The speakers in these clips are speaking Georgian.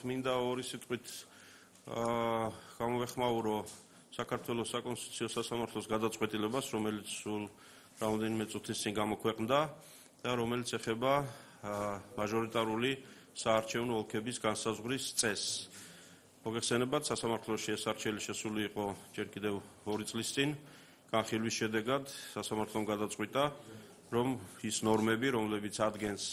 მინდა ორი სიტყვით გამოვეხმაურო საქართველოს საკონსტიტუციო სასამართლოს გადაწყვეტილებას, რომელიც სულ რამდენიმე წუთის წინ გამოქვეყნდა და რომელიც ეხება მაჟორიტარული საარჩევნო ოლქების განსაზღვრის წესს. მოგეხსენებათ, სასამართლოში ეს არჩეული შესული იყო ჯერ კიდევ 2 წლის წინ. განხილვის შედეგად სასამართლომ გადაწყვიტა, რომ ის ნორმები, რომლებიც ადგენს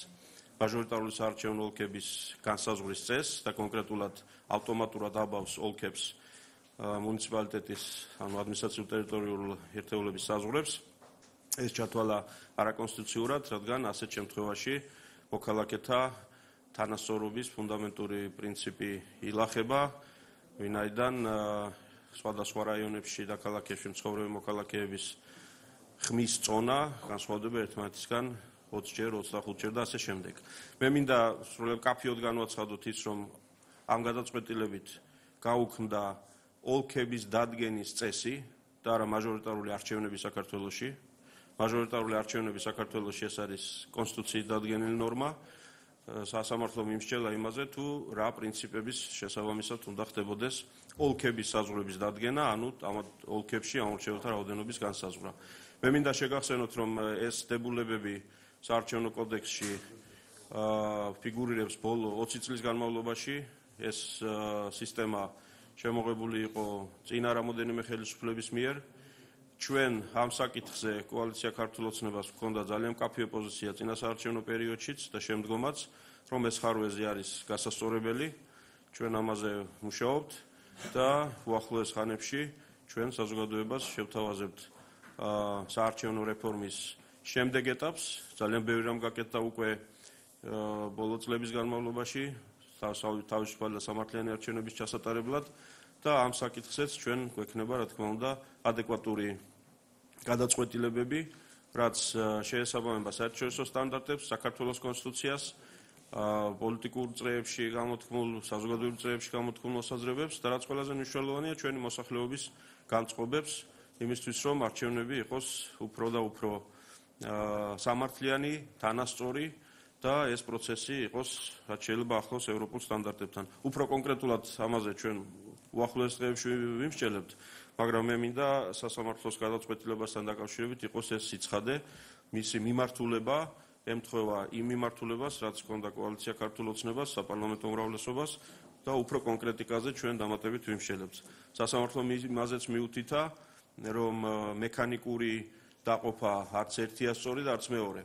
მაჟორიტარული საარჩევნო ოლქების განსაზღვრის წესს და კონკრეტულად ავტომატურად აბავს ოლქებს მუნიციპალიტეტის, ანუ ადმინისტრაციულ-ტერიტორიული ერთეულების საზღვრებს, ეს ჩათვალა არაკონსტიტუციურად, რადგან ასეთ შემთხვევაში მოქალაქეთა თანასწორობის ფუნდამენტური პრინციპი ილახება, ვინაიდან სხვადასხვა რაიონებში და ქალაქებში მცხოვრები მოქალაქეების ხმის წონა განსხვავდება ერთმანეთისგან 20-ჯერ, 25-ჯერ და ასე შემდეგ. მე მინდა სრულიად კაფიოდ განვაცხადოთ ის, რომ ამ გადაწყვეტილებით გაუქმდა ოლქების დადგენის წესი და არა მაჟორიტარული არჩევნები საქართველოში. მაჟორიტარული არჩევნები საქართველოში ეს არის კონსტიტუციით დადგენილი ნორმა. სასამართლომ იმსჯელა იმაზე, თუ რა პრინციპების შესაბამისად უნდა ხდებოდეს ოლქების საზღვრების დადგენა, ანუ ამ ოლქებში ამორჩეველთა რაოდენობის განსაზღვრა. მე მინდა შეგახსენოთ, რომ ეს დებულებები საარჩევნო კოდექსში ფიგურირებს ბოლო 20 წლის განმავლობაში. ეს სისტემა შემოღებული იყო წინა რამოდენიმე ხელისუფლების მიერ. ჩვენ ამ საკითხზე კოალიცია ქართულ ოცნებას ჰქონდა ძალიან მკაფიო პოზიცია წინა საარჩევნო პერიოდშიც და შემდგომაც, რომ ეს ხარვეზი არის გასასწორებელი. ჩვენ ამაზე მუშაობთ და უახლოეს ხანებში ჩვენ საზოგადოებას შევთავაზებთ საარჩევნო რეფორმის შემდეგ ეტაპს. ძალიან ბევრი რამ გაკეთდა უკვე ბოლო წლების განმავლობაში თავისუფალი და სამართლიანი არჩევნების ჩასატარებლად და ამ საკითხზეც ჩვენ გვექნება, რა თქმა უნდა, ადეკვატური გადაწყვეტილებები, რაც შეესაბამება საერთაშორისო სტანდარტებს, საქართველოს კონსტიტუციას, პოლიტიკურ წრეებში გამოთქმულ, საზოგადოებრივ წრეებში გამოთქმულ მოსაზრებებს და რაც ყველაზე მნიშვნელოვანია, ჩვენი მოსახლეობის განწყობებს იმისთვის, რომ არჩევნები იყოს უფრო და უფრო სამართლიანი, თანასწორი და ეს პროცესი იყოს, რაც შეიძლება ახლოს ევროპულ სტანდარტებთან. უფრო კონკრეტულად ამაზე ჩვენ უახლოეს დღეებში ვიმსჯელებთ, მაგრამ მე მინდა სასამართლოს გადაწყვეტილებასთან დაკავშირებით იყოს ეს სიცხადე, მისი მიმართულება ემთხვევა იმ მიმართულებას, რაც ჰქონდა კოალიცია ქართულ ოცნებას, საპარლამენტო უმრავლესობას და უფრო კონკრეტიკაზე ჩვენ დამატებით ვიმსჯელებთ. სასამართლომ იმაზეც მიუთითა, რომ მექანიკური დაყოფა არც ერთია სწორი და არც მეორე.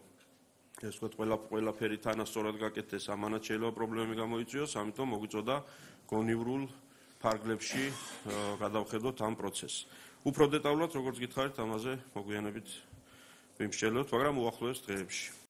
ეს ვთქვათ, ყველაფერი თანასწორად გაკეთდეს, ამანაც შეიძლება პრობლემები გამოიწვიოს, ამიტომ მოგვიწოდა გონივრულ ფარგლებში გადავხედოთ ამ პროცესს. უფრო დეტალურად, როგორც გითხარით, ამაზე მოგვიანებით ვიმსჯელებთ, მაგრამ უახლოეს დღეებში.